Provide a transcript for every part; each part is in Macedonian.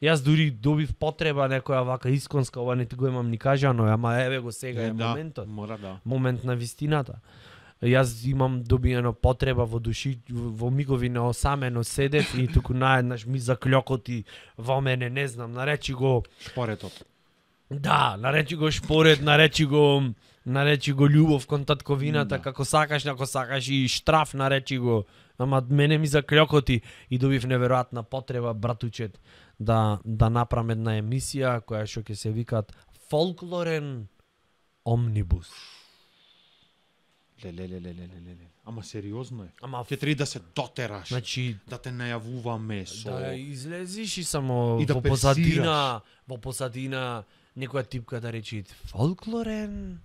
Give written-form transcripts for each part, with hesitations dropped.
Јас дури добив потреба некоја вака исконска, ова не ти го имам ни кажано, ама еве го сега е моментот. Мора да. Момент на вистината. Јас имам добиено потреба во души, во мигови на осамено седев и туку наеднаш ми заклјокоти во мене, не знам, наречи го Шпоретот. да, наречи го шпорет, наречи го љубов кон татковината, како сакаш и штраф наречи го. Ама мене ми заклјокоти и добив неверојатна потреба, братучет, да направам една емисија која што ќе се викат Фолклорен омнибус. Леле. Ама сериозно е. Ама Ќе треба да се дотераш. значи Да те најавуваме со да излезиш и само И да во позадина некоја типка да речи Фолклорен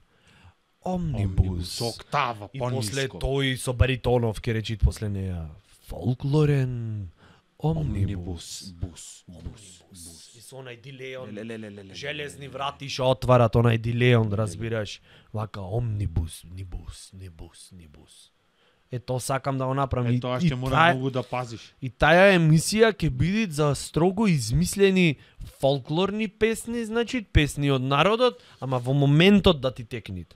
омнибус. со октава И пониско. после тој со баритонов ќе речи после неја Фолклорен омнибус. Бус. И со онај дилеон, Леле. железни врати што отварат онај дилеон, разбираш, вака омнибус, нибус. Ето сакам да го направам. Е, тоа ќе мора многу да пазиш. И таа емисија ќе биде за строго измислени фолклорни песни, значи песни од народот, ама во моментот да ти текнит.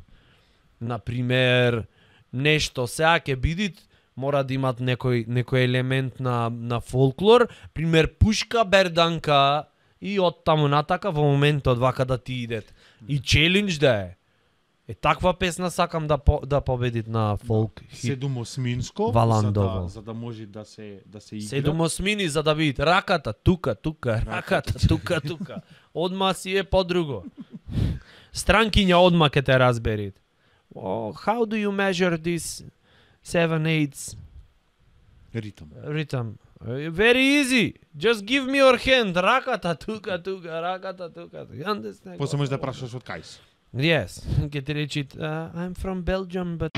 Например, нешто сега ќе биде мора да имат некој елемент на фолклор, пример пушка, берданка и од таму натака во моментот вака да ти идет. И челендж да е. Таква песна сакам да победит на фолк хит. Седумосминско, Валандово. за да може да се игра. Седумосмини за да видит раката тука, раката тука. Одма си е подруго. Странкиња одма ке те разберит. How do you measure this 7/8 rhythm? Very easy. Just give me your hand. Раката тука, раката тука. You understand? После можеш да прашаш од кај си. Yes. Ке ти речит, I'm from Belgium, but